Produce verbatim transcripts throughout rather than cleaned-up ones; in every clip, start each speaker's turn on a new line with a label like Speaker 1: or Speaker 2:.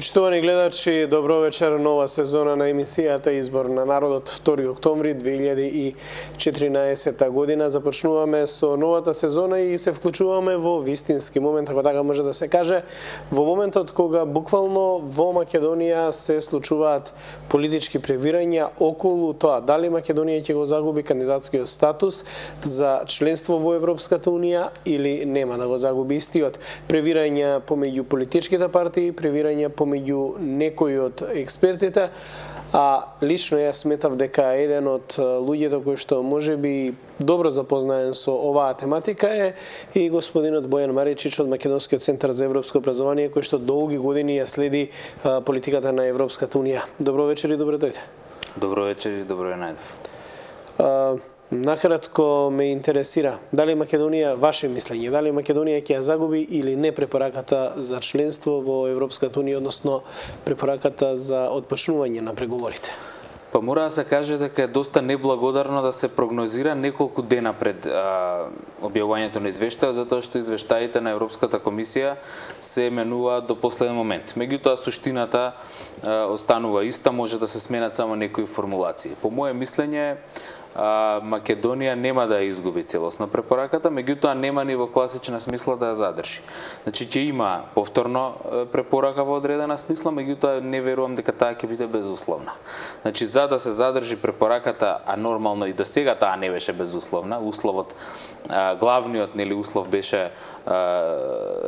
Speaker 1: Почитувани гледачи, добро вечер. Нова сезона на емисијата Избор на народот, втори октомври две илјади и четиринаесетта година. Започнуваме со новата сезона и се вклучуваме во вистински момент, ако така може да се каже, во моментот кога буквално во Македонија се случуваат политички превирања околу тоа дали Македонија ќе го загуби кандидатскиот статус за членство во Европската унија или нема да го загуби истиот. Превирања помеѓу политичките партии, превирања помеѓу некои од експертите, а лично јас сметав дека еден од луѓето кои што можеби добро запознаен со оваа тематика е и господинот Бојан Маричич од Македонскиот центар за европско образование, кој што долги години ја следи политиката на Европската унија. Добро вечер и добро дојде.
Speaker 2: Добро вечер и добро ја најдов.
Speaker 1: Накратко ме интересира, дали Македонија, ваше мислење, дали Македонија ќе ја загуби или не препораката за членство во Европската унија, односно препораката за отпочнување на преговорите?
Speaker 2: Па мора да се каже дека е доста неблагодарно да се прогнозира неколку дена пред а, објавувањето на извештајот, затоа што извештаите на Европската комисија се менуваат до последен момент. Меѓутоа суштината а, останува иста, може да се сменат само некои формулации. По моје мислење, А, Македонија нема да ја изгуби целосно препораката, меѓутоа нема ни во класична смисла да ја задржи. Значи ќе има повторно препорака во одредена смисла, меѓутоа не верувам дека таа ќе биде безусловна. Значи за да се задржи препораката, а нормално и до сега таа не беше безусловна, условот а, главниот нели услов беше а,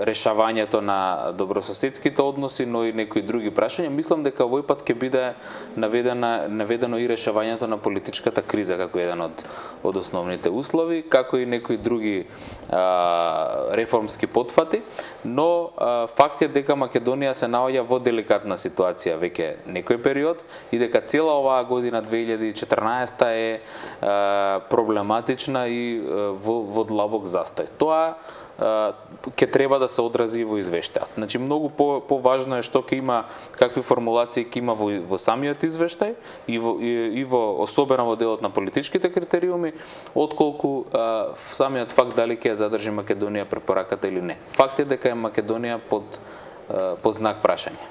Speaker 2: решавањето на добрососедските односи, но и некои други прашања. Мислам дека овој пат ќе биде наведена наведено и решавањето на политичката криза како еден од од основните услови, како и некои други а, реформски потфати, но а, факт е дека Македонија се наоѓа во деликатна ситуација веќе некој период и дека цела оваа година две илјади и четрнаесетта е а, проблематична и а, во, во длабок застој. Тоа ќе треба да се одрази во извештајот. Значи многу по поважно е што ќе има, какви формулации ќе има во, во самиот извештај и во, и, и во особено во делот на политичките критериуми, отколку а, самиот факт дали ќе ја задржи Македонија препораката или не. Факт е дека е Македонија под а, под знак прашање.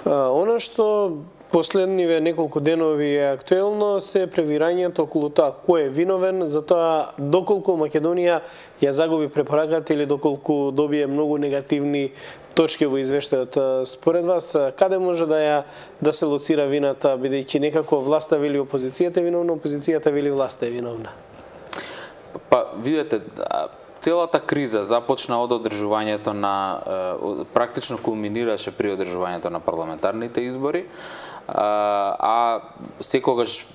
Speaker 1: А, она што последниве неколку денови е актуелно се превирањето околу тоа кој е виновен за тоа доколку Македонија ја загуби препораката или доколку добие многу негативни точки во извештајот. Според вас, каде може да ја да се лоцира вината, бидејќи некако власта вели опозицијата е виновна, опозицијата вели власта е виновна?
Speaker 2: Па, видете, целата криза започна од одржувањето на, практично кулминираше при одржувањето на парламентарните избори, а, а секогаш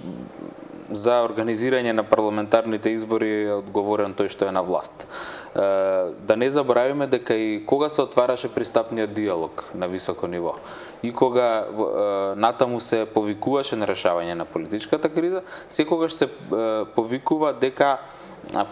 Speaker 2: за организирање на парламентарните избори е одговорен тој што е на власт. Да не заборавиме дека и кога се отвараше пристапниот диалог на високо ниво и кога натаму се повикуваше на решавање на политичката криза, секогаш се повикува дека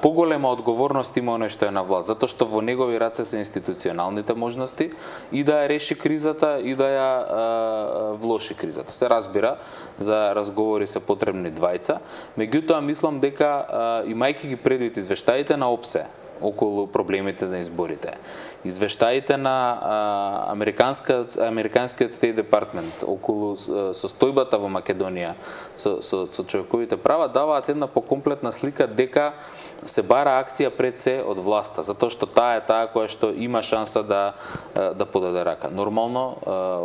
Speaker 2: поголема одговорност има оној што е на власт, затоа што во негови раце се институционалните можности и да ја реши кризата и да ја а, влоши кризата. Се разбира, за разговори се потребни двајца, меѓутоа мислам дека а, имајќи ги предвид извештаите на ОПСЕ околу проблемите на изборите, извештаите на а, американскиот американскиот State Department околу а, состојбата во Македонија со, со, со човековите права даваат една покомплетна слика дека се бара акција пред се од власта, затоа што таа е таа која што има шанса да да подаде рака. Нормално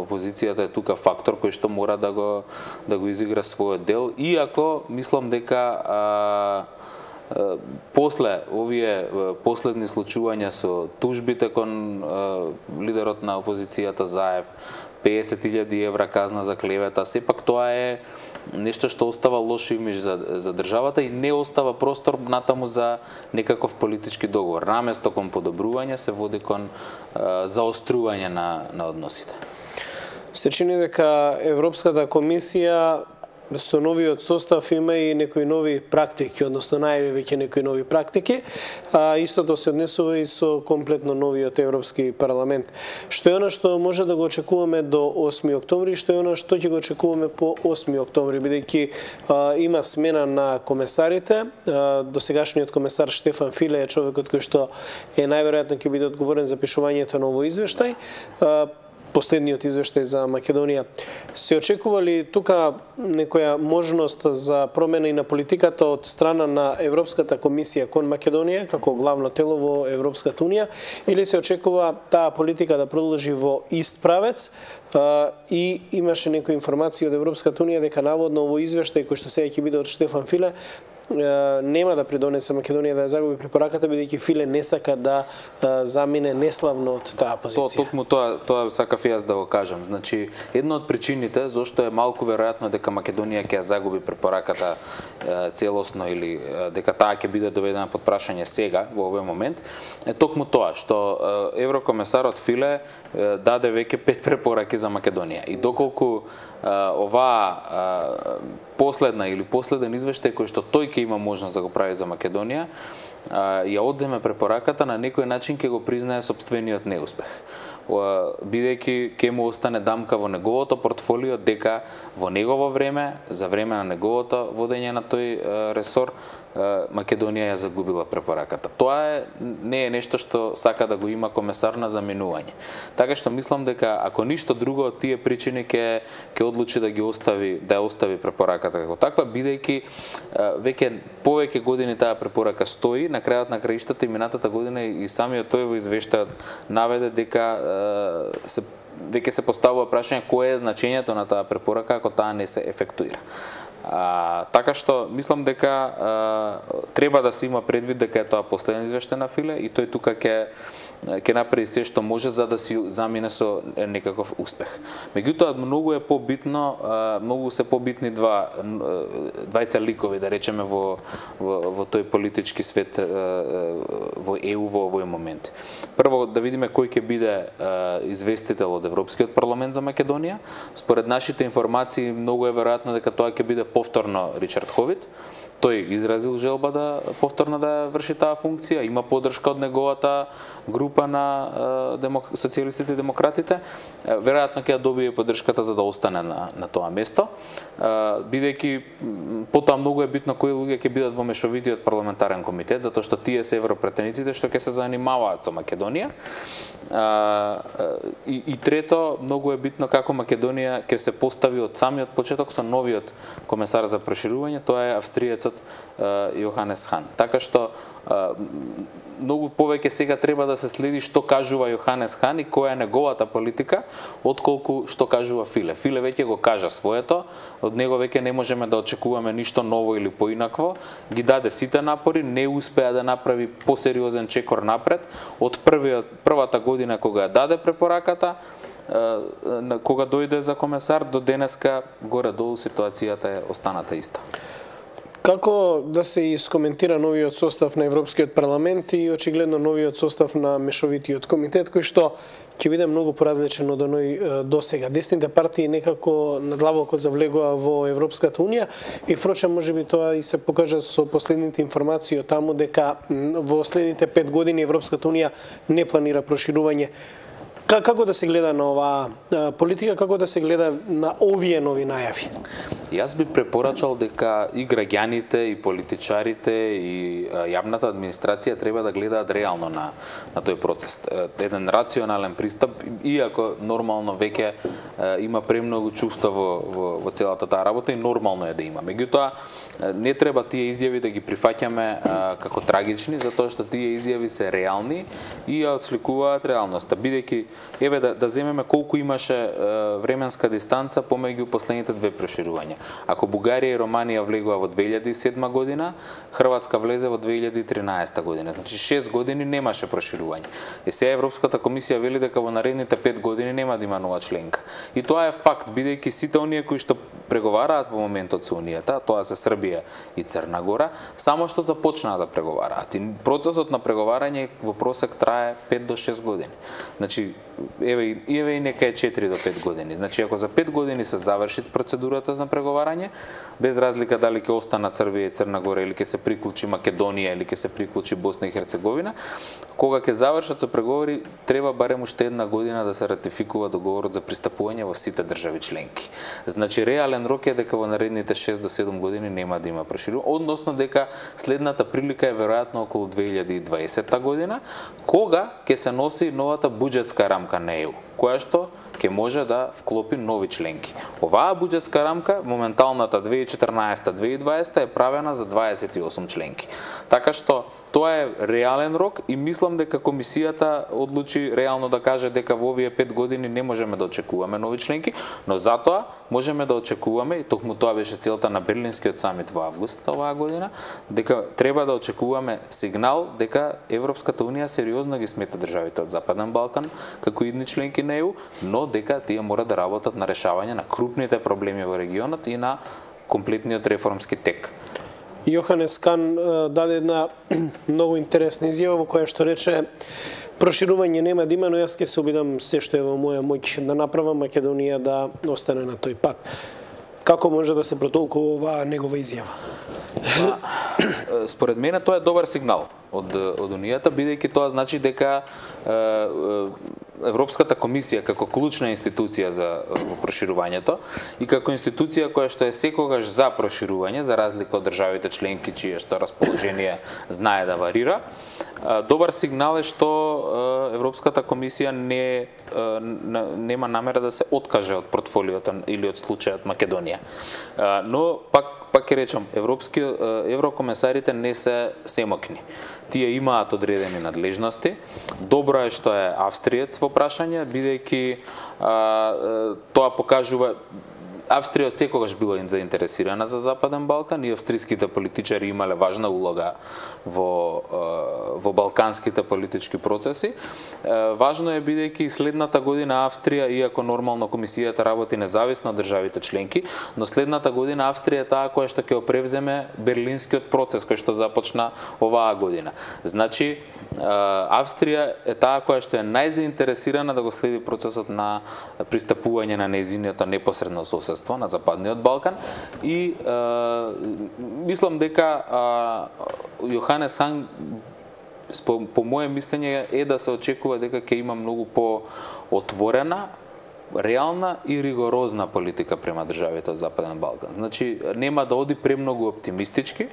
Speaker 2: опозицијата е тука фактор кој што мора да го да го изигра својот дел, иако мислам дека а, после овие последни случувања со тужбите кон лидерот на опозицијата Заев, песет илјади евра казна за клевета, сепак тоа е нешто што остава лош имидж за, за државата и не остава простор натаму за некаков политички договор. Наместо кон подобрување се води кон а, заострување на, на односите.
Speaker 1: Се чини дека Европската комисија со новиот состав има и некои нови практики, односно најави веќе некои нови практики, а истото се однесува и со комплетно новиот Европски парламент. Што е она што може да го очекуваме до осми октомври, што е она што ќе го очекуваме по осми октомври, бидејќи има смена на комесарите. А, досегашниот комесар Штефан Филе е човекот кој што е најверојатно ќе биде одговорен за пишувањето на овој извештај. А, последниот извештај за Македонија. Се очекува ли тука некоја можност за промена и на политиката од страна на Европската комисија кон Македонија како главно тело во Европската унија, или се очекува таа политика да продолжи во ист правец? И имаше некои информации од Европската унија дека наводно овој извештај кој што сега ќе биде од Штефан Филе нема да придонесе Македонија да ја загуби препораката, бидејќи Филе не сака да замине неславно од таа позиција.
Speaker 2: Токму тоа, тоа сакав и јас да го кажам. Значи, една од причините зошто е малку веројатно дека Македонија ќе ја загуби препораката целосно или дека таа ќе биде доведена под прашање сега во овој момент, е токму тоа што еврокомесарот Филе даде веќе пет препораки за Македонија. И доколку оваа последна или последен извештај кој што тој ќе има можност да го прави за Македонија, ја одземе препораката, на некој начин ќе го признае сопствениот неуспех. Бидејќи ќе му остане дамка во неговото портфолио дека во негово време, за време на неговото водење на тој ресор, Македонија ја загубила препораката. Тоа е, не е нешто што сака да го има комесар на заменување. Така што мислам дека ако ништо друго од тие причини ќе ќе одлучи да ги остави, да ја остави препораката како таква, бидејќи веќе повеќе години таа препорака стои, на крајот на краиштата и минатата година и самиот тој во извештајот наведе дека се веќе се поставува прашање кое е значењето на таа препорака ако таа не се ефектуира. А, така што мислам дека а, треба да се има предвид дека е тоа последен извештај на Филе и тој тука ќе ќе направи се што може за да си замине со некаков успех. Меѓутоа многу е побитно, многу се побитни два двајца ликови да речеме во во, во тој политички свет во Е У во овој момент. Прво да видиме кој ќе биде известител од Европскиот парламент за Македонија. Според нашите информации многу е веројатно дека тоа ќе биде повторно Ричард Ховит. Тој изразил желба да повторно да врши таа функција, има поддршка од неговата група на демок... социјалистите и демократите. Веројатно ќе ја добие поддршката за да остане на, на тоа место, бидејќи потоа многу е битно кои луѓе ќе бидат во мешовитиот парламентарен комитет, затоа што тие се европретениците што ќе се занимаваат со Македонија. И, и трето, многу е битно како Македонија ќе се постави од самиот почеток со новиот комесар за проширување, тоа е австриецот Јоханес Хан. Така што многу повеќе сега треба да се следи што кажува Јоханес Хан и која е неговата политика, отколку што кажува Филе. Филе веќе го кажа своето, од него веќе не можеме да очекуваме ништо ново или поинакво. Ги даде сите напори, не успеа да направи посериозен чекор напред. Од првиот, првата година кога ја даде препораката, кога дојде за комесар, до денеска горе-долу ситуацијата е останата иста.
Speaker 1: Како да се искоментира новиот состав на Европскиот парламент и очигледно новиот состав на Мешовитиот комитет, кој што ќе биде многу поразличен од оној досега? Десните партии некако надлабоко завлегува во Европската унија и впрочем можеби тоа и се покажа со последните информации од таму дека во следните пет години Европската унија не планира проширување. Како да се гледа на оваа политика, како да се гледа на овие нови најави?
Speaker 2: Јас би препорачал дека и граѓаните, и политичарите, и јавната администрација треба да гледаат реално на, на тој процес. Еден рационален пристап, иако нормално веќе има премногу чувства во, во, во целата таа работа и нормално е да има. Меѓутоа, не треба тие изјави да ги прифаќаме како трагични, затоа што тие изјави се реални и ја отсликуваат реалноста. Бидејќи, еве да, да земеме колку имаше временска дистанца помеѓу последните две проширувања. Ако Бугарија и Романија влегува во две илјади и седма година, Хрватска влезе во две илјади и тринаесета година. Значи шест години немаше проширување. И сега Европската комисија вели дека во наредните пет години нема да има нова членка. И тоа е факт, бидејќи сите оние кои што преговараат во моментот со Унијата, тоа се Србија и Црна Гора, само што започнаа да преговараат. И процесот на преговарање во просек трае пет до шест години. Значи, еве, еве и нека е четири до пет години. Значи, ако за пет години се заврши процедурата за преговарање, без разлика дали ќе остана Србија и Црна Гора или ќе се приклучи Македонија или ќе се приклучи Босна и Херцеговина, кога ќе завршат со преговори, треба барем уште една година да се ратификува договорот за пристапување во сите држави членки. Значи, реален рок е дека во наредните шест до седум години нема да има проширување, односно дека следната прилика е веројатно околу две илјади и дваесетта година, кога ќе се носи новата буџетска рамка на Е У. која што ќе може да вклопи нови членки. Оваа буџетска рамка, моменталната две илјади и четрнаесетта - две илјади и дваесетта е правена за дваесет и осум членки. Така што тоа е реален рок и мислам дека комисијата одлучи реално да каже дека во овие пет години не можеме да очекуваме нови членки, но затоа можеме да очекуваме, и токму тоа беше целта на Берлинскиот самит во август оваа година, дека треба да очекуваме сигнал дека Европската унија сериозно ги смета државите од Западен Балкан како идни членки на Е У, но дека тие мора да работат на решавање на крупните проблеми во регионот и на комплетниот реформски тек.
Speaker 1: Јоханес Кан даде една многу интересна изјава во која што рече: проширување нема да има, но јас ќе се обидам се што е во моја моќ да направам Македонија да остане на тој пат. Како може да се протолкува оваа негова изјава?
Speaker 2: Па, според мене тоа е добар сигнал од од Унијата, бидејќи тоа значи дека Европската комисија како клучна институција за проширувањето и како институција која што е секогаш за проширување, за разлика од државите членки чие што расположение знае да варира, добар сигнал е што Европската комисија не нема намера да се откаже од портфолиото или од случајот Македонија. Но пак пак ќе речам, европски еврокомесарите не се семокни. Тие имаат одредени надлежности. Добро е што е австриец во прашање, бидејќи тоа покажува Австрија секогаш била заинтересирана за Западен Балкан и австриските политичари имале важна улога во во балканските политички процеси. Важно е бидејќи следната година Австрија, иако нормално комисијата работи независно од државите членки, но следната година Австрија е таа која што ќе превземе Берлинскиот процес кој што започна оваа година. Значи Австрија е таа која што е најзаинтересирана да го следи процесот на пристапување на нејзиното непосредно соседство на Западниот Балкан и е, мислам дека Јоханес Хан по, по моје мислење е да се очекува дека ќе има многу по-отворена, реална и ригорозна политика према државите од Западен Балкан. Значи нема да оди премногу оптимистички,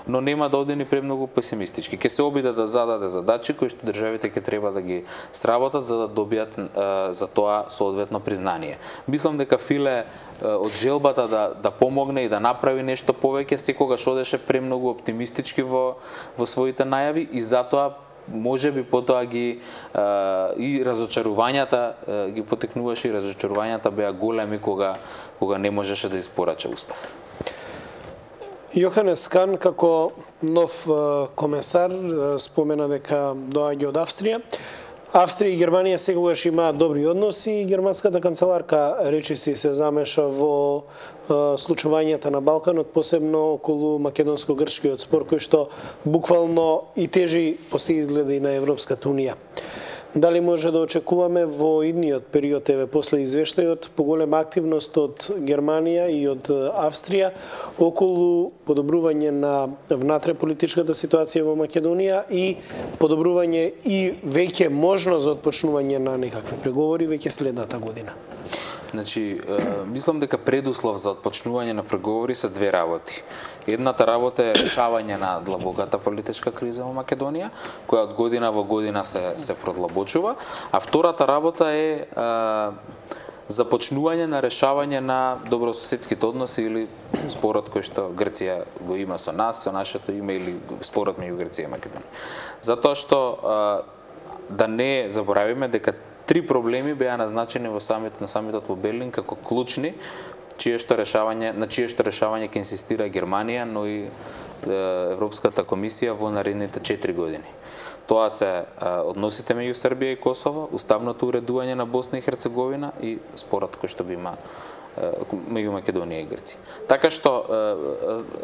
Speaker 2: но нема да оди ни премногу песимистички. Ќе се обиде да зададе задачи кои што државите ќе треба да ги сработат за да добијат е, за тоа соодветно признание. Мислам дека Филе е, од желбата да да помогне и да направи нешто повеќе секогаш одеше премногу оптимистички во во своите најави и затоа можеби потоа ги а, и разочарувањата а, ги потекнуваше и разочарувањата беа големи кога кога не можеше да испорача успех.
Speaker 1: Јоханес Кан како нов комесар спомена дека доаѓа од Австрија. Австрија и Германија секогаш имаат добри односи и германската канцеларка речиси се замеша во случувањата на Балканот, посебно околу македонско-грчкиот спор кој што буквално и тежи по се изгледа и на Европската унија. Дали може да очекуваме во идниот период, еве после извештајот, поголема активност од Германија и од Австрија околу подобрување на внатре политичката ситуација во Македонија и подобрување и веќе можност за отпочнување на некакви преговори веќе следната година?
Speaker 2: Значи, мислам дека предуслов за отпочнување на преговори се две работи. Едната работа е решавање на длабоката политичка криза во Македонија, која од година во година се се продлабочува, а втората работа е а, започнување на решавање на добрососедските односи или спорот кој што Грција го има со нас, со нашето име или спорот меѓу Грција и Македонија. Затоа што а, да не заборавиме дека три проблеми беа назначени во самит на самитот во Берлин како клучни, чие што решавање, на чие што решавање ќе инсистира Германија, но и Европската комисија во наредните четири години. Тоа се односите меѓу Србија и Косово, уставното уредување на Босна и Херцеговина и спорот кој што го има меѓу Македонија и Грција. Така што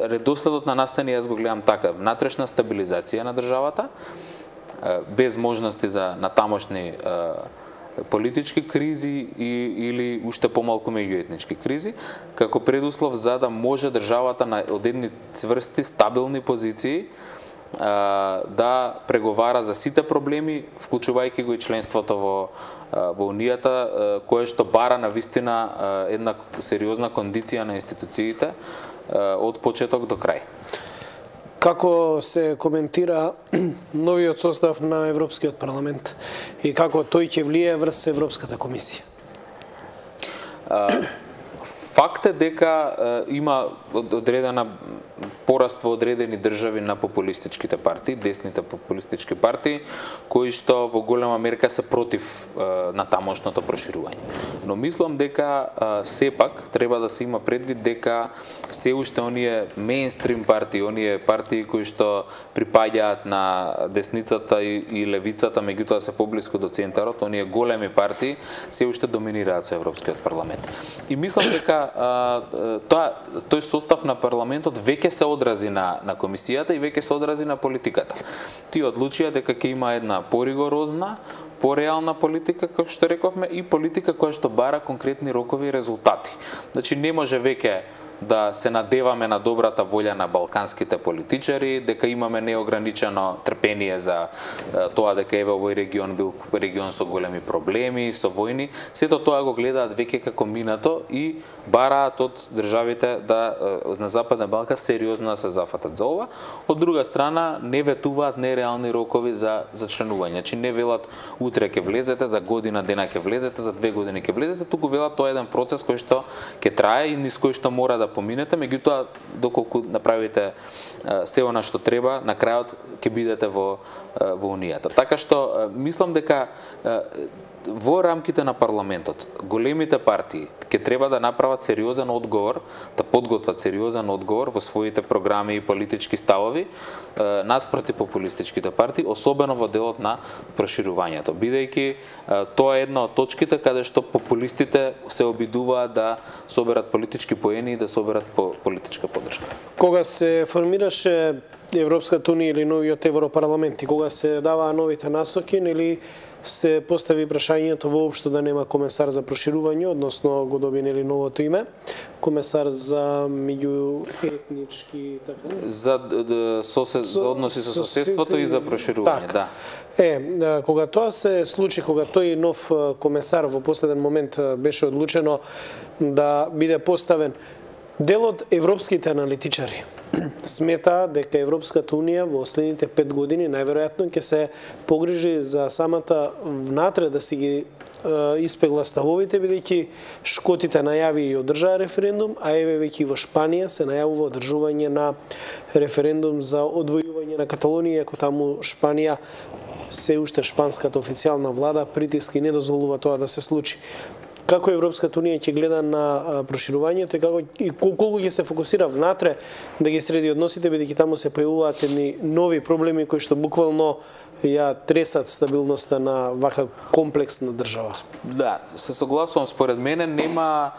Speaker 2: редоследот на настани јас го гледам така: внатрешна стабилизација на државата, без можности за натамошни политички кризи и, или уште помалку меѓуетнички кризи, како предуслов за да може државата на од едни цврсти, стабилни позиции а, да преговара за сите проблеми, вклучувајќи го и членството во, во Унијата, кое што бара на вистина една сериозна кондиција на институциите од почеток до крај.
Speaker 1: Како се коментира новиот состав на Европскиот парламент и како тој ќе влие врз Европската комисија?
Speaker 2: Факт е дека има одредена пораст во одредени држави на популистичките партии, десните популистички партии, кои што во голема мерка се против на тамошното проширување. Но мислам дека сепак треба да се има предвид дека се уште оние мејнстрим партии, оние партии кои што припаѓаат на десницата и, и левицата, меѓутоа се поблиску до центарот, оние големи партии се уште доминираат со Европскиот парламент. И мислам дека тоа тој состав на парламентот веќе се одрази на на комисијата и веќе се одрази на политиката. Тие одлучија дека ќе има една поригорозна, пореална политика, како што рековме, и политика која што бара конкретни рокови и резултати. Значи не може веќе да се надеваме на добрата волја на балканските политичари, дека имаме неограничено трпение за тоа дека еве овој регион бил регион со големи проблеми, со војни. Сето тоа го гледаат веќе како минато и бараат од државите да на Западен Балкан сериозно да се зафатат за ова. Од друга страна не ветуваат нереални рокови за за членување. Значи не велат утре ќе влезете, за година дена ќе влезете, за две години ќе влезете, туку велат тоа е еден процес кој што ќе трае и низ кој што мора да поминете, меѓутоа доколку направите се она што треба, на крајот ќе бидете во во унијата. Така што мислам дека во рамките на парламентот големите партии ќе треба да направат сериозен одговор, да подготват сериозен одговор во своите програми и политички ставови наспроти популистичките партии, особено во делот на проширувањето, бидејќи тоа е една од точките каде што популистите се обидуваат да соберат политички поени и да соберат по политичка поддршка.
Speaker 1: Кога се формираше Европската унија или новиот Европарламент и кога се даваа новите насоки, или се постави прашањето воопшто да нема комесар за проширување, односно го доби нели новото име, комесар за меѓуетнички така
Speaker 2: за сосе, за односи со соседството и за проширување,
Speaker 1: так.
Speaker 2: да.
Speaker 1: Е, кога тоа се случи, кога тој нов комесар во последен момент беше одлучено да биде поставен, дел од европските аналитичари смета дека Европската унија во следните пет години најверојатно ќе се погрижи за самата внатре да си ги е, испегла ставовите, бидејќи Шкотите најави и одржаа референдум, а еве веќе во Шпанија се најавува одржување на референдум за одвојување на Каталонија, ако таму Шпанија се уште шпанската официјална влада притиски не дозволува тоа да се случи. Како Европската унија ќе гледа на проширувањето и како и колку ќе се фокусира внатре да ги среди односите, бидејќи таму се појавуваат едни нови проблеми кои што буквално ја тресат стабилноста на вака комплексна држава.
Speaker 2: Да, се согласувам, според мене нема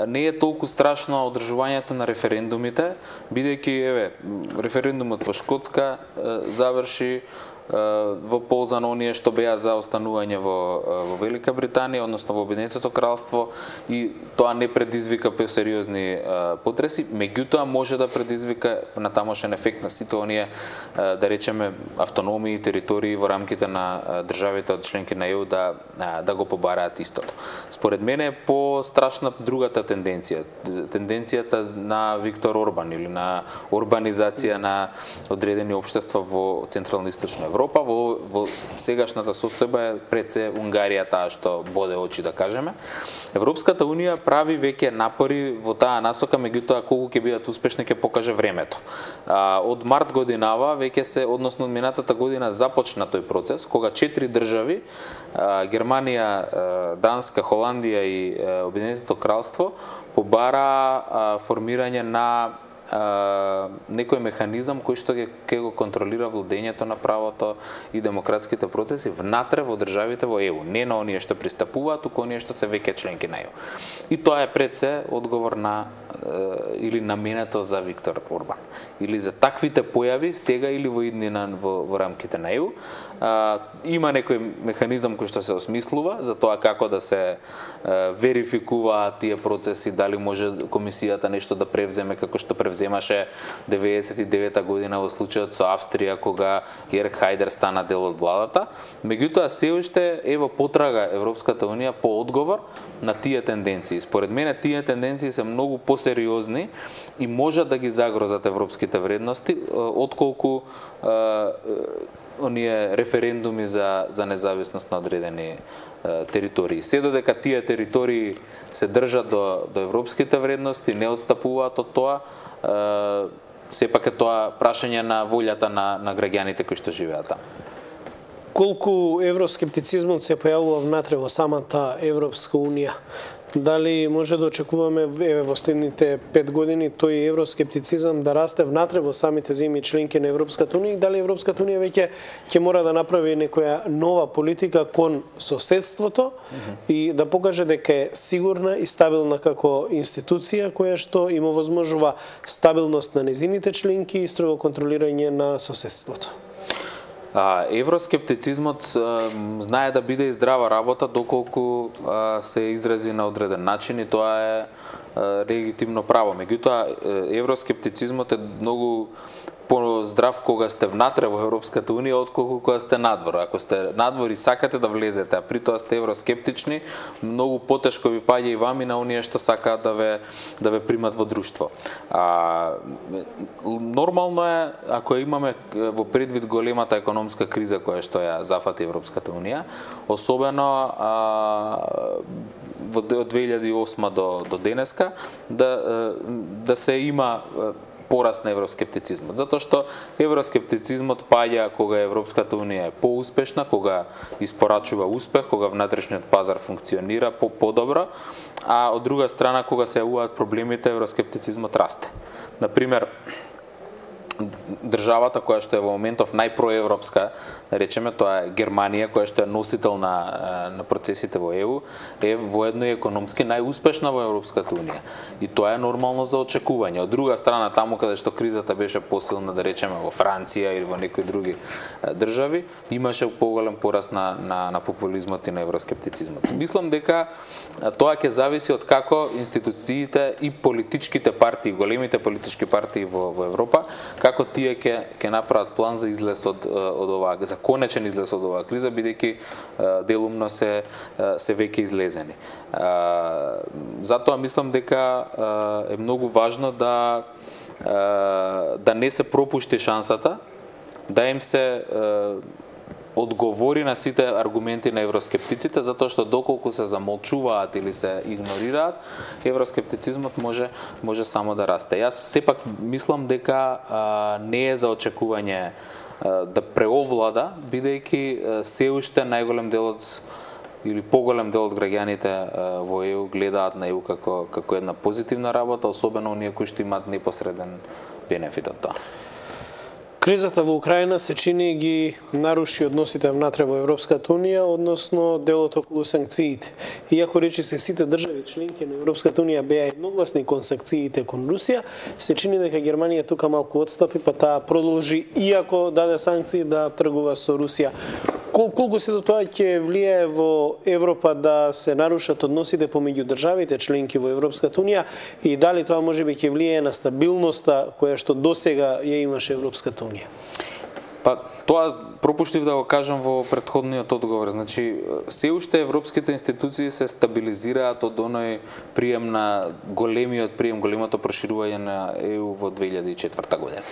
Speaker 2: не е толку страшно одржувањето на референдумите, бидејќи еве референдумот во Шкотска заврши во полза на оние што беа за останување во, во Велика Британија, односно во Обединетото кралство, и тоа не предизвика сериозни потреси, меѓутоа може да предизвика на тамошен ефект на сите оние, да речеме, автономии и територии во рамките на државите од членки на Е У да, да го побараат истото. Според мене е по-страшна другата тенденција, тенденцијата на Виктор Орбан или на урбанизација на одредени општества во Централна и Источна Европа. Европа, во, во сегашната состојба е пред се Унгарија таа што боде очи, да кажеме. Европската унија прави веќе напори во таа насока, меѓутоа колку ќе бидат успешни ќе покаже времето. А, од март годинава веќе се, односно од минатата година започна тој процес, кога четири држави, а, Германија, Данска, Холандија и Обединетото кралство, побара а, формирање на Uh, некој механизам кој што ќе го контролира владењето на правото и демократските процеси внатре во државите во Е У, не на оние што пристапуваат, туку оние што се веќе членки на Е У. И тоа е пред се одговор на uh, или наменето за Виктор Орбан. Или за таквите појави сега или во иднина во, во рамките на Е У. Uh, има некој механизам кој што се осмислува за тоа како да се uh, верификуваат тие процеси, дали може комисијата нешто да превземе како што превземе земаше деветдесет и девета година во случајот со Австрија кога Јерг Хајдер стана дел од владата. Меѓутоа се уште е во потрага Европската унија по одговор на тие тенденции. Според мене тие тенденции се многу посериозни и можат да ги загрозат европските вредности отколку оние референдуми за за независност на одредени територии. Се додека тие територии се држат до до европските вредности, не отстапуваат од тоа, сепак е тоа прашање на волјата на на граѓаните кои што живеат таму.
Speaker 1: Колку евроскептицизмот се појавува внатре во самата Европска унија? Дали може да очекуваме еве во следните пет години тој евроскептицизам да расте внатре во самите земји членки на Европската унија и дали Европската унија веќе ќе мора да направи некоја нова политика кон соседството mm-hmm. и да покаже дека е сигурна и стабилна како институција која што им овозможува стабилност на незините членки и строго контролирање на соседството?
Speaker 2: А, евроскептицизмот а, знае да биде и здрава работа доколку а, се изрази на одреден начин и тоа е а, легитимно право. Меѓутоа, евроскептицизмот е многу поздрав кога сте внатре во Европската унија отколку кога сте надвор. Ако сте надвор и сакате да влезете, а при тоа сте евроскептични, многу потешко ви паѓа и вам и на оние што сакаат да ве да ве примат во друштво. А, нормално е ако имаме во предвид големата економска криза која што ја зафати Европската унија, особено а, од две илјади и осма до до денеска да да се има пораст на евроскептицизмот, затоа што евроскептицизмот паѓа кога Европската унија е поуспешна, кога испорачува успех, кога внатрешниот пазар функционира по подобро, а од друга страна кога се јавуваат проблемите, евроскептицизмот расте. Например, државата која што е во моментов најпроевропска, да речеме, тоа е Германија, која што е носител на на процесите во Е У, е воедно и економски најуспешна во Европската унија. И тоа е нормално за очекување. Од друга страна, таму каде што кризата беше посилна, да речеме во Франција или во некои други држави, имаше поголем пораст на на на популизмот и на евроскептицизмот. Мислам дека тоа ќе зависи од како институциите и политичките партии, големите политички партии во во Европа, како тие ќе ќе направат план за излез од од оваа, за конечен излез од оваа криза, бидејќи делумно се се веќе излезени. Затоа мислам дека е многу важно да да не се пропушти шансата, да им се одговори на сите аргументи на евроскептиците, затоа што доколку се замолчуваат или се игнорираат, евроскептицизмот може може само да расте. Јас сепак мислам дека а, не е за очекување а, да преовлада, бидејќи се уште најголем дел од или поголем дел од граѓаните а, во Е У гледаат на Е У како како една позитивна работа, особено оние кои што имаат непосреден бенефит од тоа.
Speaker 1: Кризата во Украина се чини ги наруши односите внатре во Европската унија, односно делот околу санкциите. Иако речиси сите држави членки на Европската унија беа едногласни кон санкциите кон Русија, се чини дека Германија тука малку отстапи, па таа продолжи, иако даде санкции, да тргува со Русија. Кол, колку се до тоа ќе влијае во Европа да се нарушат односите помеѓу државите членки во Европската унија и дали тоа можеби ќе влијае на стабилноста која што досега ја имаше Европската унија?
Speaker 2: Па тоа пропуштив да го кажам во претходниот одговор. Значи, се уште европските институции се стабилизираат од оној прием на големиот прием, големото проширување на Е У во две илјади и четврта година.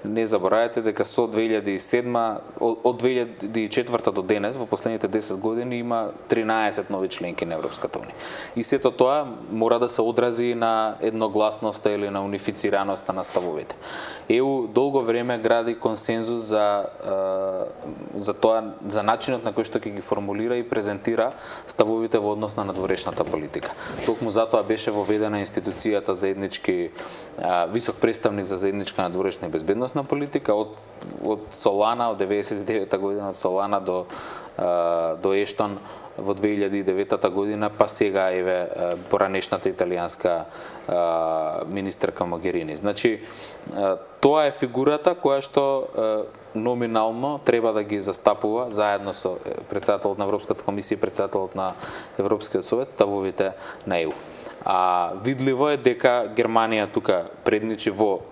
Speaker 2: Не заборавајте дека со две илјади и седма, од две илјади и четврта до денес, во последните десет години има тринаесет нови членки на Европската унија. И сето тоа мора да се одрази на едногласноста или на унифицираноста на ставовите. Е У долго време гради консензус за за тоа, за начинот на кој што ќе ги формулира и презентира ставовите во однос на надворешната политика. Токму затоа беше воведена институцијата заеднички висок представник за заедничка надворешна и безбедносна политика од од Солана од деветдесет и девета година, од Солана до до Ештон во две илјади и девета година, па сега еве поранешната италијанска министерка Могерини. Значи тоа е фигурата која што номинално треба да ги застапува заедно со претседателот на Европската комисија и претседателот на Европскиот совет ставовите на Е У. А видливо е дека Германија тука предничи во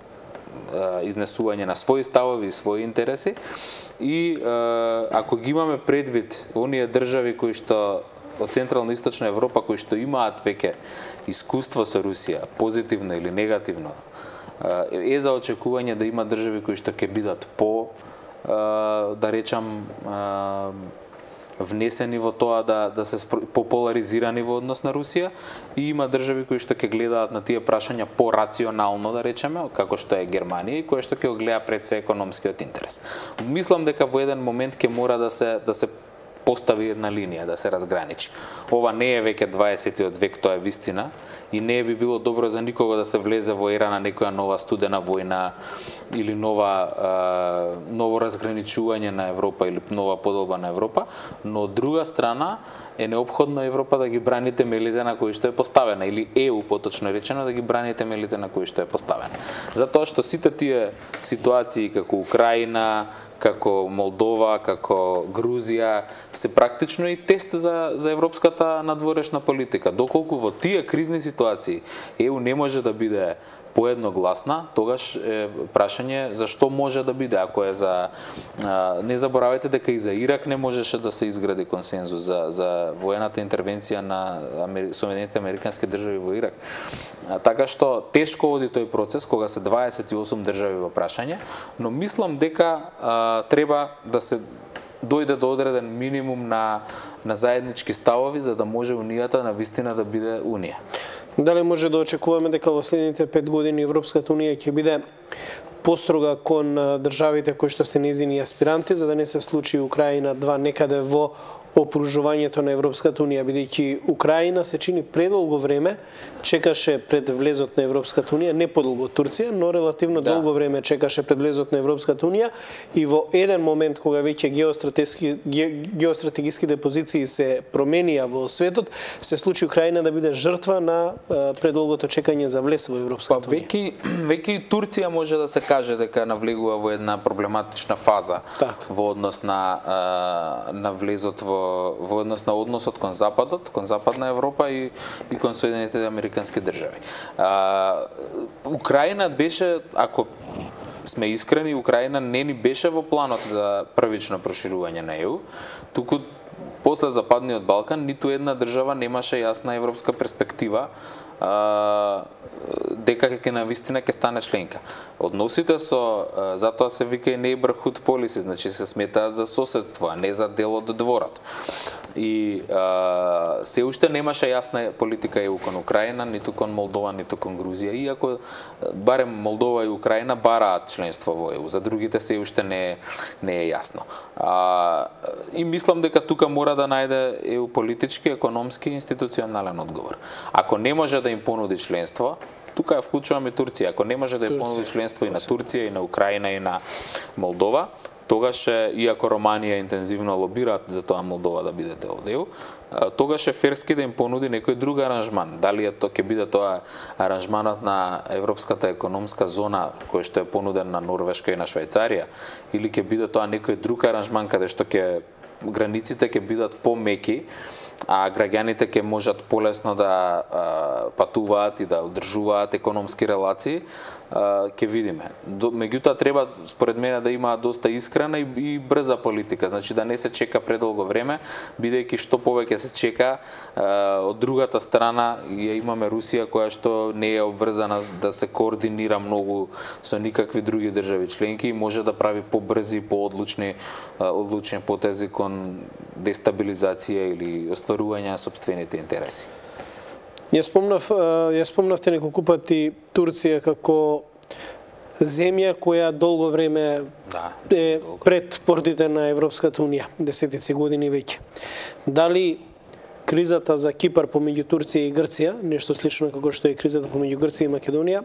Speaker 2: изнесување на своји ставови и своји интереси. И ако ги имаме предвид оние држави кои што од Централна и Источна Европа кои што имаат веќе искуство со Русија, позитивно или негативно, е за очекување да има држави кои што ќе бидат по, да речам, внесени во тоа да да се пополаризирани во однос на Русија, и има држави кои што ќе гледаат на тие прашања порационално, да речеме, како што е Германија, и кои што ќе го гледа пред се економскиот интерес. Мислам дека во еден момент ќе мора да се да се постави една линија, да се разграничи. Ова не е веќе дваесеттиот век, тоа е вистина, и не би било добро за никого да се влезе во ера на некоја нова студена војна или нова ново разграничување на Европа или нова поделба на Европа, но од друга страна е неопходно Европа да ги брани темелите на кои што е поставена, или Е У поточно речено да ги брани темелите на кои што е поставена. Затоа што сите тие ситуации како Украина, како Молдова, како Грузија се практично и тест за за европската надворешна политика. Доколку во тие кризни ситуации Е У не може да биде поедногласна, тогаш е прашање зашто може да биде, ако е за не заборавајте дека и за Ирак не можеше да се изгради консензус за за воената интервенција на Соединетите американски држави во Ирак. Така што тешко оди тој процес кога се дваесет и осум држави во прашање, но мислам дека а, треба да се дојде до одреден минимум на на заеднички ставови за да може унијата на вистина да биде унија.
Speaker 1: Дали може да очекуваме дека во следните пет години Европската унија ќе биде построга кон државите кои што се нејзини аспиранти, за да не се случи Украина два некаде во опружувањето на Европската унија, бидејќи Украина се чини предолго време чекаше пред влезот на Европската унија, не подолго Турција, но релативно да. долго време чекаше пред влезот на Европската унија, и во еден момент кога веќе геостратешки геостратегиските позиции се променија во светот, се случи Украина да биде жртва на предолгото чекање за влез во Европската унија.
Speaker 2: Веќе веќе и Турција може да се каже дека навлегува во една проблематична фаза так. во однос на на влезот во во однос на односот кон Западот, кон Западна Европа и и кон Соединетите американски држави. А, Украина беше, ако сме искрени, Украина не ни беше во планот за првично проширување на Е У, туку после Западниот Балкан ниту една држава немаше јасна европска перспектива а, дека ќе навистина ќе стане членка. Односите со, затоа се вика и neighborhood policy, значи се сметаат за соседство, а не за дел од дворот. И а, се уште немаше јасна политика Е У кон Украина, ниту кон Молдова, ниту кон Грузија, иако барем Молдова и Украина бараат членство во Е У, за другите се уште не не е јасно. А, и мислам дека тука мора да најде Е У политички, економски и институционален одговор. Ако не може да им понуди членство, тука ја вклучуваме Турција, ако не може да ја понуди членство и на Турција, и на Украина, и на Молдова, тогаш, иако Романија интензивно лобираат за тоа Молдова да биде дел од Е У, тогаш е ферски да им понуди некој друг аранжман. Дали е тоа ќе биде тоа аранжманот на Европската економска зона кој што е понуден на Норвешка и на Швајцарија, или ќе биде тоа некој друг аранжман каде што ќе границите ќе бидат помеки, а граѓаните ќе можат полесно да а, патуваат и да одржуваат економски релации, а, ќе видиме. До, меѓутоа треба според мене да има доста искрена и, и брза политика, значи да не се чека предолго време, бидејќи што повеќе се чека, а, од другата страна ја имаме Русија која што не е обврзана да се координира многу со никакви други држави членки и може да прави побрзи, поодлучни одлучни потези кон дестабилизација или остварување на собствените интереси.
Speaker 1: Ја спомнав, ја спомнавте неколку пати Турција како земја која долго време да, е долго. пред портите на Европската унија, десетици години веќе. Дали кризата за Кипар помеѓу Турција и Грција, нешто слично како што е кризата помеѓу Грција и Македонија,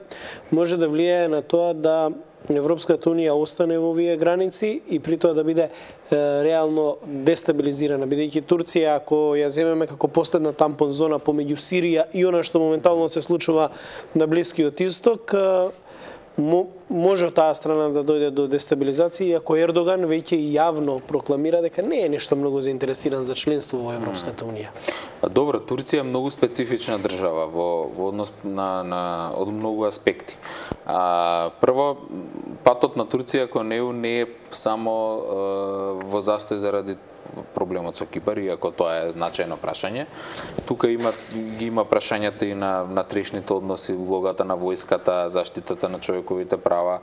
Speaker 1: може да влијае на тоа да Европската унија остане во овие граници и при тоа да биде е, реално дестабилизирана, бидејќи Турција, ако ја земеме како последна тампон зона помеѓу Сирија и она што моментално се случува на Блискиот Исток, може од таа страна да дојде до дестабилизација, иако Ердоган веќе јавно прокламира дека не е нешто многу заинтересиран за членство во Европската унија.
Speaker 2: Добро, Турција е многу специфична држава во, во однос на, на од многу аспекти. А, прво, патот на Турција кон ЕУ не е само е, во застој заради проблемот со Кипар, иако тоа е значајно прашање. Тука има ги има прашањата и на внатрешните односи, улогата на војската, заштитата на човековите права.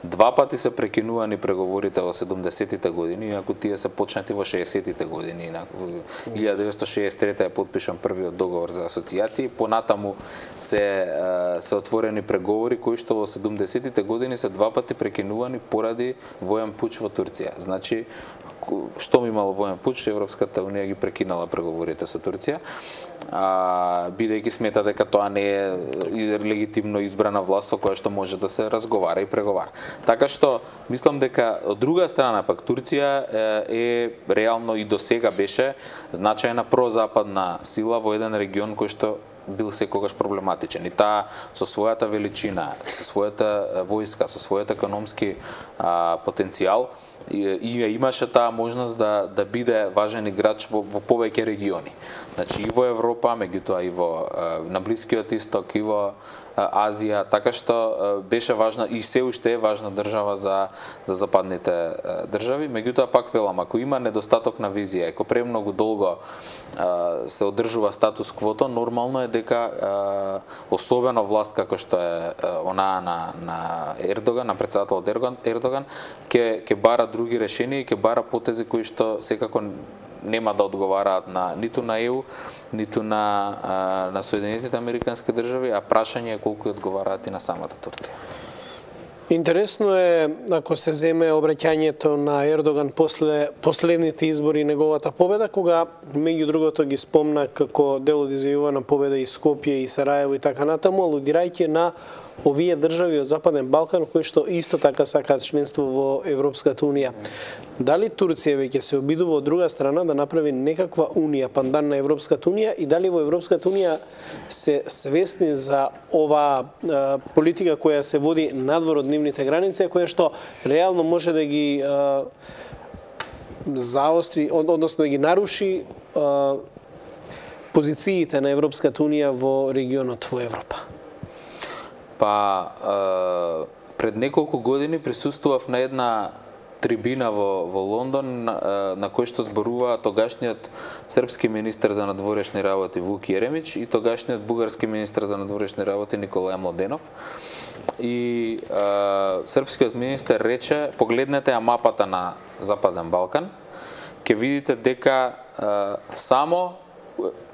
Speaker 2: Два пати се прекинувани преговорите во седумдесетите години, иако тие се почнати во шеесеттите години. На илјада деветстотини шеесет и трета е подпишан првиот договор за асоциација и понатаму се се отворени преговори кои што во седумдесетите години се два пати прекинувани поради воен пуч во Турција. Значи, што ми имало воен пуч, Европската унија ги прекинала преговорите со Турција, а, бидејќи смета дека тоа не е легитимно избрана власт со која што може да се разговара и преговара. Така што, мислам дека од друга страна пак Турција е, е реално и до сега беше значајна прозападна сила во еден регион кој што бил секогаш проблематичен. И таа со својата величина, со својата војска, со својот економски а, потенцијал, и имаше таа можност да да биде важен играч во, во повеќе региони. Значи и во Европа, меѓутоа и во на Блискиот Исток, и во Азија, така што беше важна и се уште е важна држава за за западните држави. Меѓутоа пак велам, ако има недостаток на визија, ако премногу долго се одржува статус квото, нормално е дека особено власт како што е онаа на на Ердоган, на претседателот Ердоган, Ердоган ќе ќе бара други решенија и ќе бара потези кои што секако нема да одговараат на ниту на ЕУ, ниту на на Соединетите американски држави, а прашање е колку одговараат и на самата Турција.
Speaker 1: Интересно е, ако се земе обраќањето на Ердоган после последните избори и неговата победа, кога меѓу другото ги спомна како дел од изјавувана победа и Скопје и Сараево и така натаму, алудирајќи на овие држави од Западен Балкан кои што исто така сакаат членство во Европската унија. Дали Турција веќе се обидува од друга страна да направи некаква унија, пандан на Европската унија, и дали во Европската унија се свесни за оваа а, политика која се води надвор од нивните граници, која што реално може да ги а, заостри, односно да ги наруши а, позициите на Европската унија во регионот во Европа?
Speaker 2: Па, а, пред неколку години присуствував на една трибина во, во Лондон, на, на кој што зборува тогашниот српски министер за надворешни работи Вук Јеремич и тогашниот бугарски министер за надворешни работи Николај Младенов. И а, српскиот министер рече, погледнете ја мапата на Западен Балкан, ќе видите дека а, само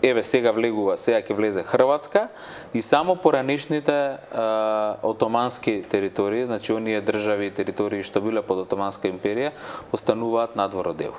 Speaker 2: еве сега влегува, сега ќе влезе Хрватска и само поранешните а, отомански територии, значи оние држави и територии што биле под Отоманска империја, остануваат надвор од ЕУ.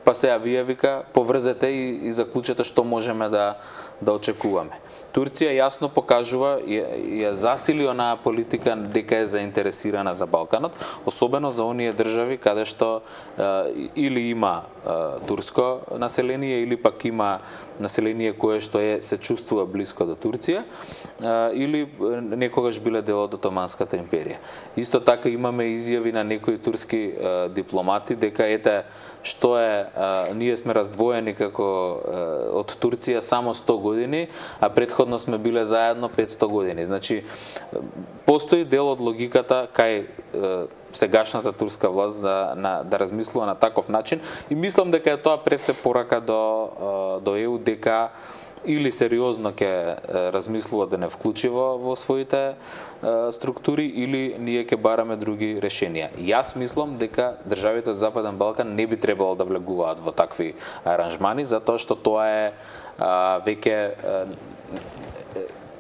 Speaker 2: Па сега вие вика поврзете и, и заклучете што можеме да да очекуваме. Турција јасно покажува и ја засили онаа политика дека е заинтересирана за Балканот, особено за оние држави каде што е, или има е, турско население или пак има население кое што е се чувствува блиско до Турција, е, или некогаш биле дел од Отоманската империја. Исто така имаме изјави на некои турски е, дипломати дека ете што е, е ние сме раздвоени како е, од Турција само сто години, а претходно сме биле заедно петсто години. Значи постои дел од логиката кај е, сегашната турска власт да на, да размислува на таков начин и мислам дека е тоа пред се порака до до ЕУ дека или сериозно ќе размислува да не вклучи во, во своите е, структури или ние ќе бараме други решенија. Јас мислам дека државите од Западен Балкан не би требало да влегуваат во такви аранжмани затоа што тоа е а, веќе а,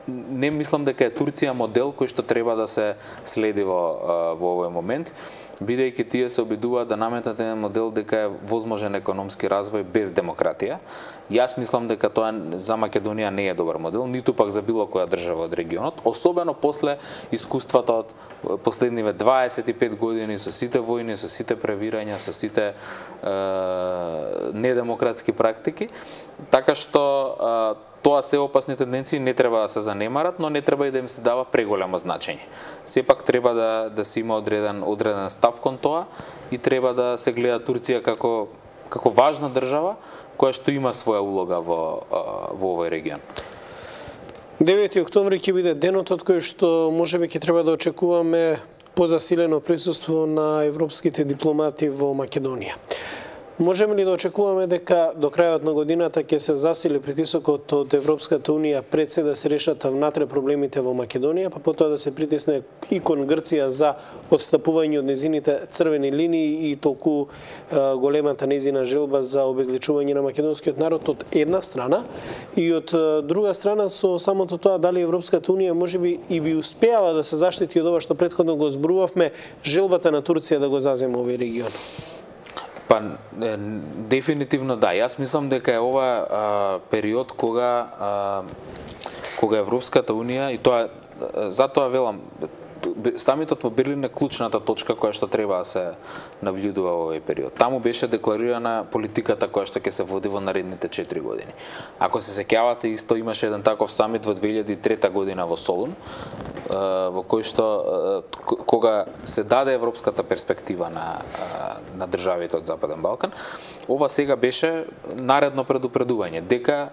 Speaker 2: не мислам дека е Турција модел кој што треба да се следи во во овој момент, бидејќи тие се обидуваат да наметнат еден модел дека е возможен економски развој без демократија. Јас мислам дека тоа за Македонија не е добар модел, ниту пак за било која држава од регионот, особено после искуствата од последниве дваесет и пет години со сите војни, со сите превирања, со сите е, недемократски практики. Така што е, тоа се опасни тенденции, не треба да се занемарат, но не треба и да им се дава преголемо значење. Сепак треба да да се има одреден одреден став кон тоа и треба да се гледа Турција како како важна држава која што има своја улога во во овој регион.
Speaker 1: девети октомври ќе биде денот од кој што можеби ќе треба да очекуваме позасилено присуство на европските дипломати во Македонија. Можеме ли да очекуваме дека до крајот на годината ќе се засили притисокот од Европската Унија пред се да се решат внатре проблемите во Македонија, па потоа да се притисне и кон Грција за отстапување од незините црвени линии и толку е, големата незина желба за обезличување на македонскиот народ од една страна, и од друга страна со самото тоа дали Европската Унија можеби и би успеала да се заштити од ова што претходно го зборувавме, желбата на Турција да го заземе овој регион.
Speaker 2: Па, е, дефинитивно да. Јас мислам дека е ова а, период кога а, кога Европската Унија, и тоа затоа велам, самитот во Берлин е клучната точка која што треба да се наблюдува во овој период. Таму беше декларирана политиката која што ќе се води во наредните четири години. Ако се сеќавате, исто имаше еден таков самит во две илјади и трета година во Солун, во кој што кога се даде европската перспектива на на државите од Западен Балкан, ова сега беше наредно предупредување дека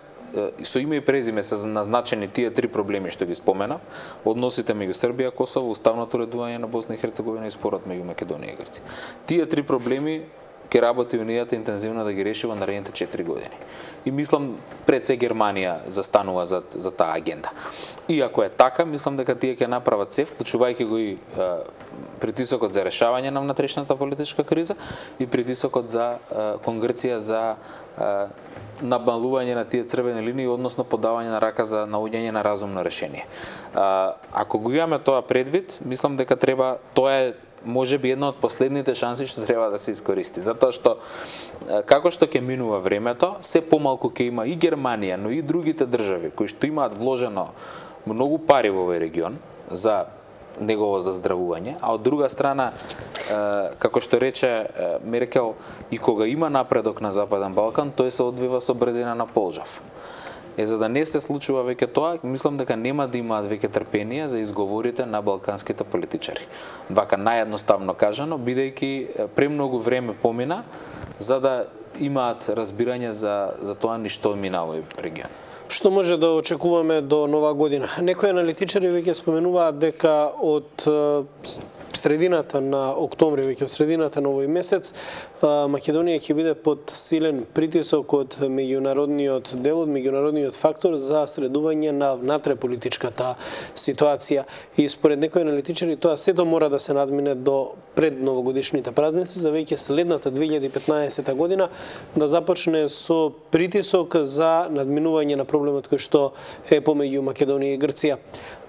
Speaker 2: со име и презиме се назначени тие три проблеми што ги споменав: односите меѓу Србија, Косово, уставното уредување на Босна и Херцеговина и спорот меѓу Македонија и Грција. Тие три проблеми ќе работи Унијата интензивно да ги реши во наредните четири години. И мислам пред се Германија застанува за за таа агенда. И ако е така, мислам дека тие ќе направат се, вклучувајќи го и а, притисокот за решавање на внатрешната политичка криза и притисокот за а, кон Грција за а, набалување на тие црвени линии, односно подавање на рака за наоѓање на разумно решение. А, ако го имаме тоа предвид, мислам дека треба, тоа е можеби една од последните шанси што треба да се искористи, затоа што како што ќе минува времето, се помалку ќе има и Германија, но и другите држави кои што имаат вложено многу пари во овој регион за негово заздравување, а од друга страна, како што рече Меркел, и кога има напредок на Западен Балкан, тој се одвива со брзина на полжав. Е, за да не се случува веќе тоа, мислам дека нема да имаат веќе трпение за изговорите на балканските политичари. Вака наједноставно кажано, бидејќи премногу време помина за да имаат разбирање за за тоа ни што мина во овој регион.
Speaker 1: Што може да очекуваме до нова година? Некои аналитичари веќе споменуваат дека од средината на октомври, веќе од средината на овој месец, Македонија ќе биде под силен притисок од меѓународниот дел, од меѓународниот фактор за средување на внатреполитичката ситуација. И според некои аналитичари тоа сето мора да се надмине до пред новогодишните празници, за веќе следната две илјади и петнаесета година да започне со притисок за надминување на проблемот кој што е помеѓу Македонија и Грција.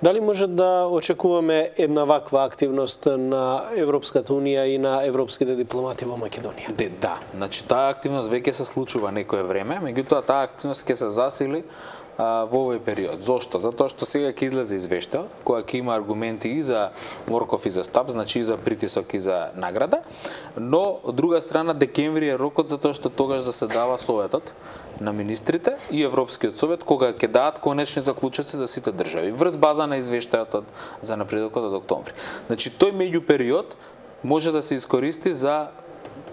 Speaker 1: Дали може да очекуваме една ваква активност на Европската Унија и на европските дипломати во Македонија?
Speaker 2: Де, да, значи таа активност веќе се случува некое време, меѓутоа таа активност ќе се засили а, во овој период. Зошто? Затоа што сега ќе излезе извештај која ќе има аргументи и за Морков и за Стап, значи и за притисок и за награда, но од друга страна декември е рокот затоа што тогаш заседава Советот на министрите и Европскиот совет кога ќе дадат конечни заклучоци за сите држави врз база на извештајот за напредокот од октомври. Значи тој меѓупериод може да се искористи за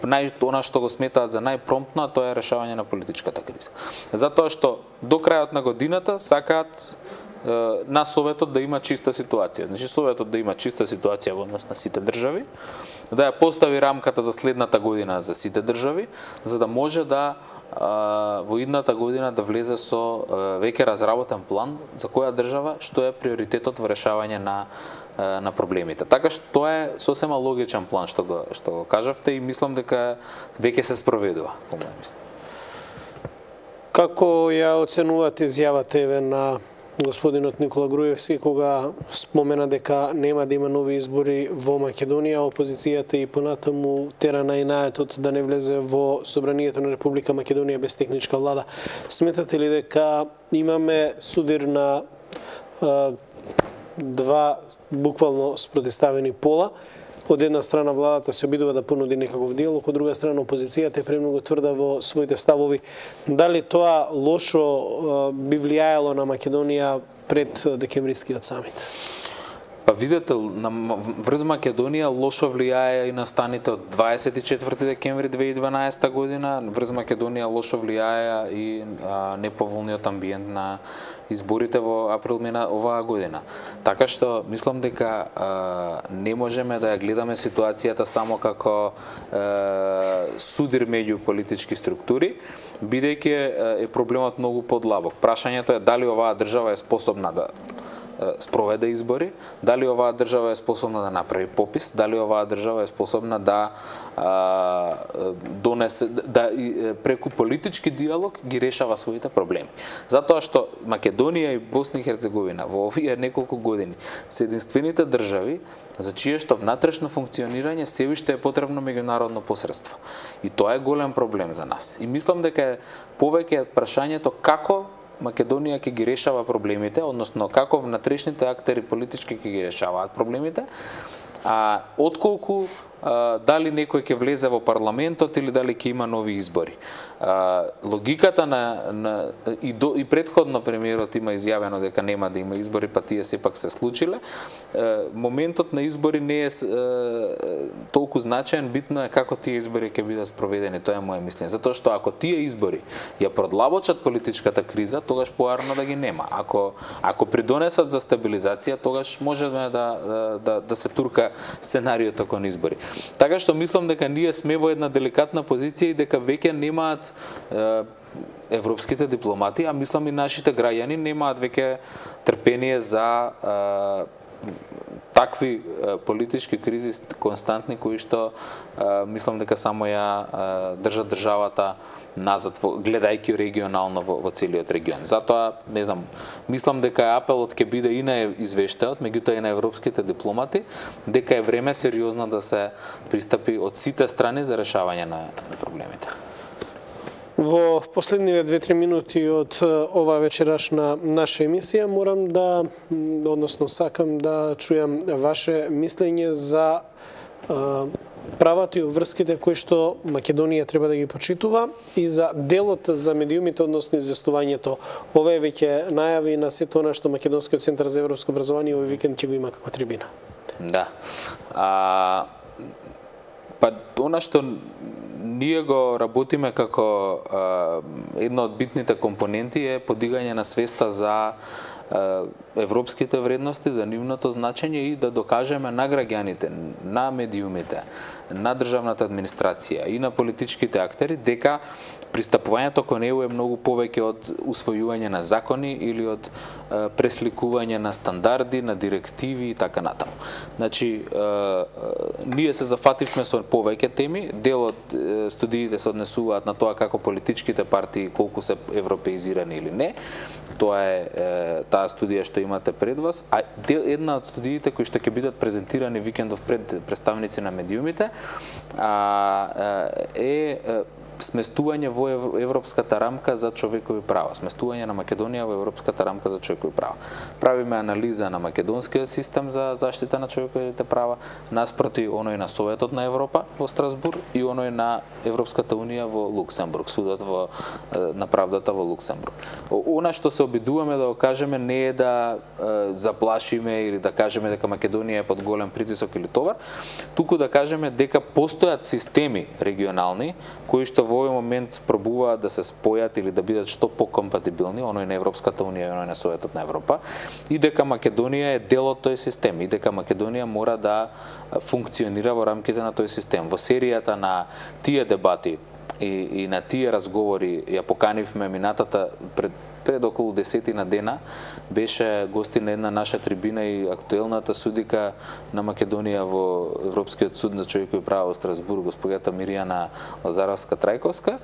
Speaker 2: нај она што го сметаат за најпромптно, а тоа е решавање на политичката криза. Затоа што до крајот на годината сакаат е, на Советот да има чиста ситуација. Значи Советот да има чиста ситуација во однос на сите држави, да ја постави рамката за следната година за сите држави, за да може да во идната година да влезе со веќе разработен план за која држава што е приоритетот во решавање на на проблемите. Така што тоа е сосема логичен план што го што го кажавте и мислам дека веќе се спроведува, по моје мислење.
Speaker 1: Како ја оценувате изјавата еве на господинот Никола Груевски кога спомена дека нема да има нови избори во Македонија, опозицијата и понатаму тера најнаетот да не влезе во собранието на Република Македонија без техничка влада? Сметате ли дека имаме судир на а, два буквално спротиставени пола, од една страна владата се обидува да понуди некаков диалог, од друга страна опозицијата е премногу тврда во своите ставови. Дали тоа лошо би влијаело на Македонија пред декемврискиот самит?
Speaker 2: Па видете, на, врз Македонија лошо влијае и настаните од дваесет и четврти декември две илјади и дванаесета година, врз Македонија лошо влијае и а, неповолниот амбиент на изборите во април мина оваа година. Така што мислам дека а, не можеме да ја гледаме ситуацијата само како а, судир меѓу политички структури, бидејќи е проблемот многу подлабок. Прашањето е дали оваа држава е способна да спроведе избори, дали оваа држава е способна да направи попис, дали оваа држава е способна да а, донесе да преку политички диалог ги решава своите проблеми. Затоа што Македонија и Босна и Херцеговина во овие неколку години се единствените држави за чие што внатрешно функционирање се уште е потребно меѓународно посредство. И тоа е голем проблем за нас. И мислам дека е повеќе прашањето како Македонија ќе ги решава проблемите, односно како внатрешните актери политички ќе ги решаваат проблемите, а отколку а, дали некој ќе влезе во парламентот или дали ќе има нови избори. А, логиката на, на и, до, и предходно премиерот има изјавено дека нема да има избори, па тие сепак се случиле. А, моментот на избори не е а, толку значаен, битно е како тие избори ќе бидат спроведени, тоа е моје мислење. Затоа што ако тие избори ја продлабочат политичката криза, тогаш поарно да ги нема. Ако ако придонесат за стабилизација, тогаш можеме да да, да, да се турка сценариото кон избори. Така што мислам дека ние сме во една деликатна позиција и дека веќе немаат е, европските дипломати, а мислам и нашите граѓани немаат веќе трпение за е, такви е, политички кризи константни кои што е, мислам дека само ја е, држат државата назад, гледајќи регионално во, во целиот регион. Затоа, не знам, мислам дека апелот ќе биде и на извештајот, меѓутоа и на европските дипломати, дека е време сериозно да се пристапи од сите страни за решавање на, на проблемите.
Speaker 1: Во последниве две-три минути од ова вечерашна наша емисија морам да, односно сакам да чујам ваше мислење за правата и обврските кои што Македонија треба да ги почитува и за делот за медиумите, односно известувањето. Ова е веќе најави на сето она што Македонскиот центар за европско образование овој викенд ќе го има како трибина.
Speaker 2: Да. А, па она што ние го работиме како а, една од битните компоненти е подигање на свеста за европските вредности, за нивното значење и да докажеме на граѓаните, на медиумите, на државната администрација и на политичките актери дека пристапувањето кон Е У е многу повеќе од усвојување на закони или од е, пресликување на стандарди, на директиви и така натаму. Значи, е, е, ние се зафативме со повеќе теми, дел од е, студиите се однесуваат на тоа како политичките партии колку се европеизирани или не. Тоа е, е таа студија што имате пред вас, а дел, една од студиите кои што ќе бидат презентирани викендов пред представници на медиумите а, е, е сместување во европската рамка за човекови права, сместување на Македонија во европската рамка за човекови права. Правиме анализа на македонскиот систем за заштита на човековите права наспроти оној на Советот на Европа во Страсбург и оној на Европската унија во Луксембург, судот во на правдата во Луксембург. Она што се обидуваме да го кажеме не е да е, заплашиме или да кажеме дека Македонија е под голем притисок или товар, туку да кажеме дека постојат системи регионални кои што во овој момент пробуваат да се спојат или да бидат што покомпатибилни, оној на Европската унија и оној на Советот на Европа, и дека Македонија е дел од тој систем, и дека Македонија мора да функционира во рамките на тој систем. Во серијата на тие дебати и, и на тие разговори ја поканивме минатата пред пред околу десетина дена, беше гости на една наша трибина и актуелната судика на Македонија во Европскиот суд на човекови права во Страсбург, госпоѓата Миријана Лазаровска-Трајковска.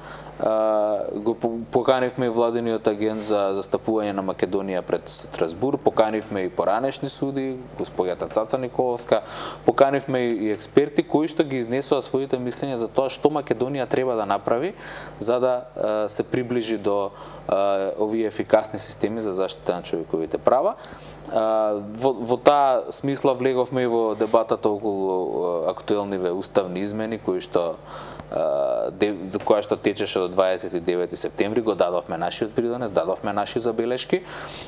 Speaker 2: Го поканивме и владиниот агент за застапување на Македонија пред Страсбург, поканивме и поранешни суди, госпоѓата Цаца Николовска, поканивме и експерти кои што ги изнесоа своите мислења за тоа што Македонија треба да направи за да се приближи до овие ефикасни системи за заштита на човековите права. Во, во таа смисла влеговме и во дебатата околу актуелниве уставни измени кои што за која што течеше до дваесет и девети септември, го дадовме нашиот придонес, дадовме наши забелешки.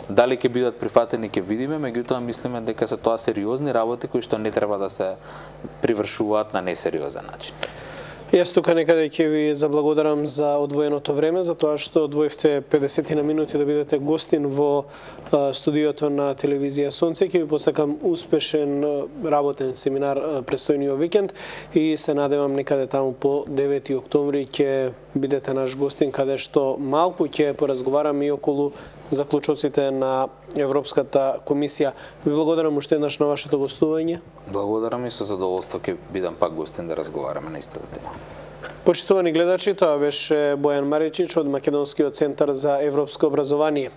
Speaker 2: Дали ќе бидат прифатени ќе видиме, меѓутоа мислиме дека се тоа сериозни работи кои што не треба да се привршуваат на несериозен начин.
Speaker 1: Јас тука некаде ќе ви заблагодарам за одвоеното време, за тоа што одвоевте педесет на минути да бидете гостин во студиото на телевизија Сонце. Ќе ви посакам успешен работен семинар престојниот викенд и се надевам некаде таму по девети октомври ќе бидете наш гостин, каде што малку ќе поразговараме и околу заклучоците на Европската комисија. Ви благодарам уште еднаш на вашето гостување.
Speaker 2: Благодарам и со задоволство ќе бидам пак гостин да разговараме на истата тема.
Speaker 1: Почитувани гледачи, тоа беше Бојан Маричич од Македонскиот центар за европско образование.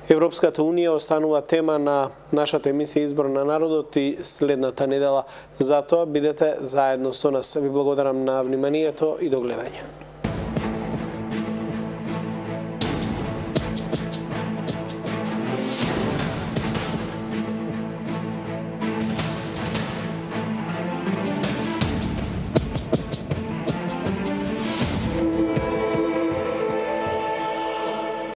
Speaker 1: Европската унија останува тема на нашата емисија Избор на народот и следната недела. Затоа бидете заедно со нас. Ви благодарам на вниманието и до гледање.